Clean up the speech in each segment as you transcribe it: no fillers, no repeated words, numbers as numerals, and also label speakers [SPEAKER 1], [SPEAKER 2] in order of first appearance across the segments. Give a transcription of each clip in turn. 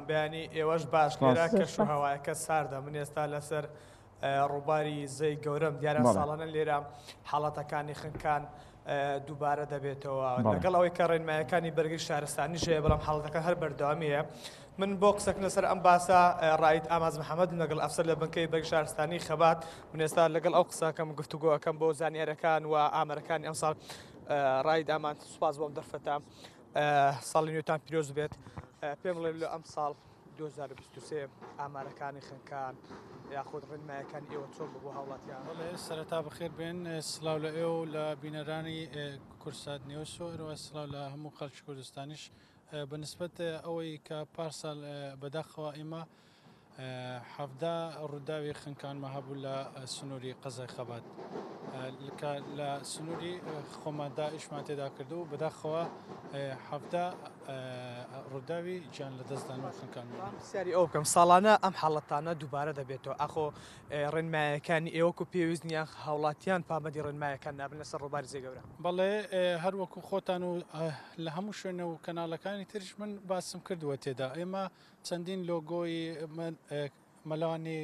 [SPEAKER 1] بەیانی ئێوەش باش. لێرە کەش و هەوایەکە ساردە، من ئێستا لەسەر ڕووباری زەی گەورەم. دیارە ساڵانە لێرە حاڵەتەکانی خنکان دووبارە دەبێتەوە، لەگەڵ ئەوەی کە ڕێنمایەکانی بەرگری شارستانی هەیە، بەڵام حاڵەتەکان هەر بەردەوامی هەیە. من بۆ قسەکردن لەسەر ئەم باسە ڕایت ئاماز محەممەد لەگەڵ ئەفسەر لە بنکەی بەرگری شارستانی خەبات. من ئێستا لەگەڵ ئەو قسەکەم گفتوگۆ ئەەکەم بۆ زانیارەکان و ئامارەکانی ئەمساڵ. ڕایت ئامان، سوپاس بۆم دەرفەتە. ساڵی نوێتان پیرۆز بێت. پێم بڵێ لە ئەم ساڵ 2023 ئامارەکانی خنکان یاخود ڕێنمایەکانی ئێوە چۆن بوو بۆ هاوڵاتیان؟
[SPEAKER 2] بەڵێ، سەرەتا بەخێر بێن، سڵاو لە ئێوە و لە بینەرانی کوردسات نیوز و هەروەها سڵاو لە هەموو خەڵکی کوردستانیش. بە نسبەت ئەوەی کە پارساڵ بەداخەوە ئێمە 17 ڕووداوی خنکانمان هەبوو لە سنووری قەزای خەبات کە لە سنووری خۆماندا ئیشمان تێدا کرد و بەداخەوە 17 ڕووداوی گیان لە دەستدان و خنکان.
[SPEAKER 1] پرسیاری ئەو بکەم، ساڵانە ئەم حاڵەتانە دووبارە دەبێتەوە، ئاخۆ ڕێنمایەکانی ئێوەکو پێویست نییە، هاوڵاتیان پابەندی ڕێنمایەکان نابن لەسەر ڕووباری زێ گەورە؟
[SPEAKER 2] بەڵێ، هەر وەکو خۆتان و لە هەموو شوێنە و کەناڵەکانی تریش من باسم کردووە تێدا ئێمە چەندین لۆگۆی مەلەوانی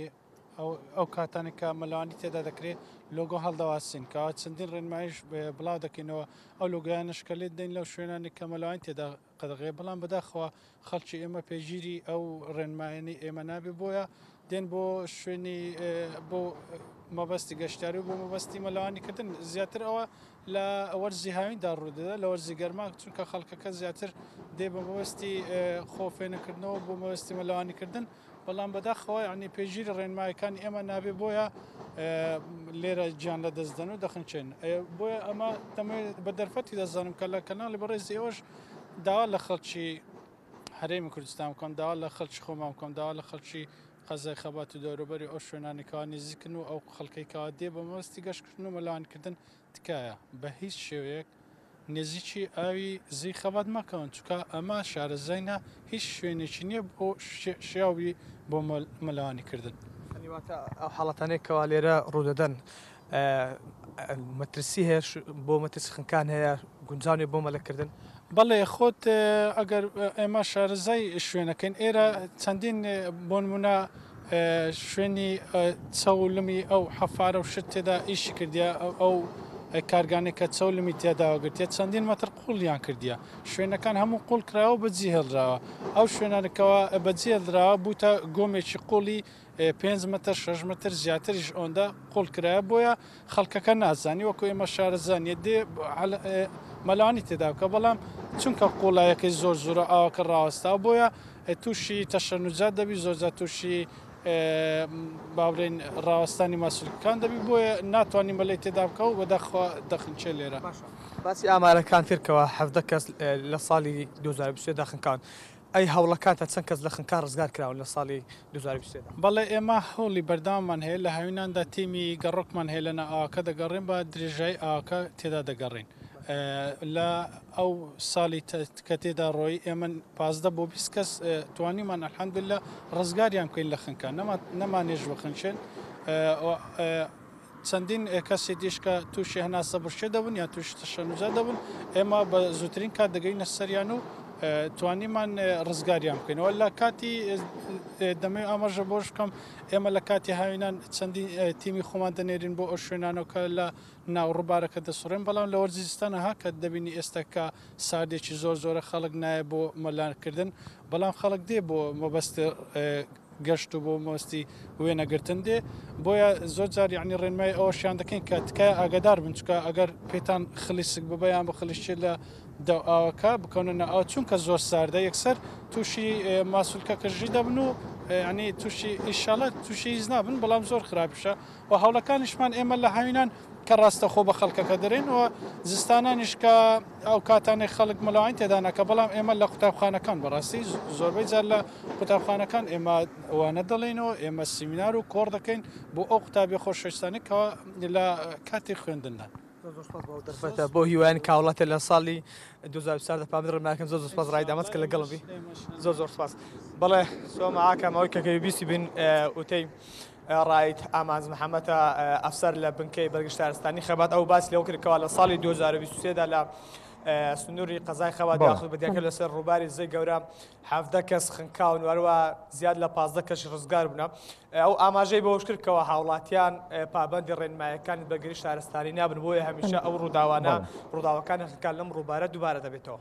[SPEAKER 2] ئەو کاتانێک کە مەلەوانی تێدا دەکرێت لۆگۆ هەڵدەواسین، کەوا چەندین ڕێنمایش بڵاو دەکەینەوە، ئەو لۆگۆیانش کە لێت دەین لەو شوێنانی کە مەلەوانی تێدا قەدەغەیە. بەڵام بەداخەوە خەڵکی ئێمە پێگیری ئەو ڕێنمایانی ئێمە نابێ، بۆیە دێن بۆ شوێنی بۆ مەبەستی گەشتیاری و بۆ مەبەستی مەلەوانی کردن. زیاتر ئەوە لە وەرزی هاویندا ڕوودەدا، لە وەرزی گەرما چونکە خەڵکەکە زیاتر دێ بە مەبەستی خۆ فێنکردنەوە بۆ مەبەستی مەلەوانیکردن. بەڵام بەداخەوە یعنی پێگیری ڕێنمایەکانی ئێمە نابێ، بۆیە لێرە گیان لە دەست دەن و دەخنچێن. بۆیە ئەمە دەمەوێت بە دەرفەتی دەزانم کە لە کەناڵی بەڕێزی ئێوەش داوا لە خەڵکی هەرێمی کوردستان بکەم، داوا لە خەڵکی خۆمان بکەم، داوا لە خەڵکی قەزای خەبات و دەوروبەری ئەو شوێنانی کەوا نزیکن و ئەو خەڵکەی کەوا دێ بە مەبەستی گەشتکردن و مەلەوانیکردن، تکایە بە هیچ شێوەیەک نزیکی ئاوی زێی خەبات مەکەون، چونکە ئەمە شارەزاینە هیچ شوێنێکی نییە بۆ شیاوی بۆ مەلەوانی کردن.
[SPEAKER 1] یانی واتە ئەو حاڵەتانەی کەوا لێرە ڕوودەدەن مەترسی هەیە بۆ مەترسی خنکان هەیە، گونجاو نیە بۆ مەلەکردن؟
[SPEAKER 2] بەڵێ، خۆت ئەگەر ئێمە شارەزای شوێنەکەین، ئێرە چەندین بۆ نمونە شوێنی چەولمی ئەو حەفارە و شت تێدا ئیشی کردیە، ئەو کارگانەی کە چەولمی تێداوە گرتیە چەندین مەتر قوڵیان کردیە، شوێنەکان هەموو قوڵ کراوە و بەجی هێڵراوە. ئەو شوێنانەکەەوە بەجی هێڵراوە بووتە گۆمێکی قوڵی 5 مەتر 6 مەتر زیاتریش ئەوەندە قوڵ کرایە، بۆیە خەڵکەکە نازانی وەکو ئێمە شارەزا نیە دێ مەلەوانی تێدا بکە، بەڵام چونکە قوڵایەکەی زۆر زۆرە ئاوەکە ڕاوەستاوە بۆیە تووشی تەشەنوجات دەبی، زۆرجار تووشی با بڵێین ڕاوەستانی ماسولکەکان دەبی، بۆیە ناتوانانی مەلەی تێدا بکە و بەداخەوە دەخنچێ لێرە.
[SPEAKER 1] باسی ئامارەکان کرد کەوا 17 کەس لە ساڵی 2023 دا خنکاون، ئەی هەوڵەکانتان چەند کەس لە خنکان ڕزگار کراون لە ساڵی 2023 دا؟
[SPEAKER 2] بەڵێ، ئێمە هەوڵی بەردەواممان هەیە، لە هاویناندا تیمی گەڕۆکمان هەیە لەناو ئاوەکە دەگەڕێن، بە درێژایی ئاوەکە تێدا دەگەڕێین. لە ئەو ساڵی کە تێدا ڕۆیی ئێمە 15 بۆ 20 کەس توانیمان الحمدللە ڕزگاریان بکەین لە خنکان، نەمانێش بخنچێن. چەندین کەسی دیش کە تووشی هەناسە بڕشێ دەبوون یان تووشی تەشەنوجا دەبوون، ئێمە بە زووترین کات دەگەینە سەریان و توانیمان ڕزگاریان بکەینەوە. لە کاتی دەمەوێت ئاماژە بۆش بکەم، ئێمە لە کاتی هاوینان چەندین تیمی خۆمان دەنێرین بۆ ئەو شوێنانەوە کە لە ناو ڕووبارەکە دەسوڕێن، بەڵام لە وەرزی زستانە ها کە دەبینی ئێستا کە ساردێکی زۆر زۆرە خەڵک نایە بۆ مەلانکردن، بەڵام خەڵک دێ بۆ مەبەست گەشت و بۆ مەبەستی وێنەگرتن دێ. بۆیە زۆر جار یعنی ڕێنمایی ئەوەشیان دەکەین کە تکایە ئاگادار بن، چونکە ئەگەر پێتان خلیسک ببە یان بخلیشتێ لە دەو ئاوەکە بکەونە ناو ئاو، چونکە زۆر ساردە یەکسەر تووشی ماسولکە کەژی دەبن و یعنی تووشی ئیشاڵە تووشی هیچ نابن، بەڵام زۆر خراپیشە. و هەوڵەکانیشمان ئێمە لە هاوینان کە ڕاستەخۆ بە خەڵکەکە دەرێن و زستانانیش کە ئەو کاتانەی خەڵک مەلەوانی تێدا ناکە، بەڵام ئێمە لە قوتابخانەکان بەڕاستی زۆربەی جار لە قوتابخانەکان ئێمە وانە دەڵێینەوە، ئێمە سیمینار و کۆڕ دەکەین بۆ ئەو قوتابیە خۆشەویستانەی کەوا لە کاتی خوێندندان.
[SPEAKER 1] زۆر زۆر سپاس بۆ ئەو دەرفەتە، بۆ هیوایان کاوڵاتێ لە ساڵی 2024 دا پابەندی ڕێنمایەکەن. زۆر زۆر سپاس ڕای دامەت کە لەگەڵم بی، زۆر زۆر سپاس. بەڵێ سۆما ئاکام ئەوەی کە بیستی بین وتەی ڕائید ئامانج محەمەدە، ئەفسەر لە بنکەی بەرگری شارستانی خەبات، ئەو باسی لەوە کرد کەوا لە ساڵی 2023 دا لە سنووری قەزای خەبات یاخود بەدیاکە لەسەر ڕووباری زێی گەورە 17 کەس خنکاون و هەروە زیاد لە 15 کەش ڕزگار بوونە. ئەو ئاماژەی بەوەش کرد کەوا هاوڵاتیان پابەندی ڕێنمایەکانی بەرگری شارستانی نابن، بۆیە هەمیشە ئەو ڕووداوانە ڕووداوەکانی خنکان لەم ڕووبارە دووبارە دەبێتەوە.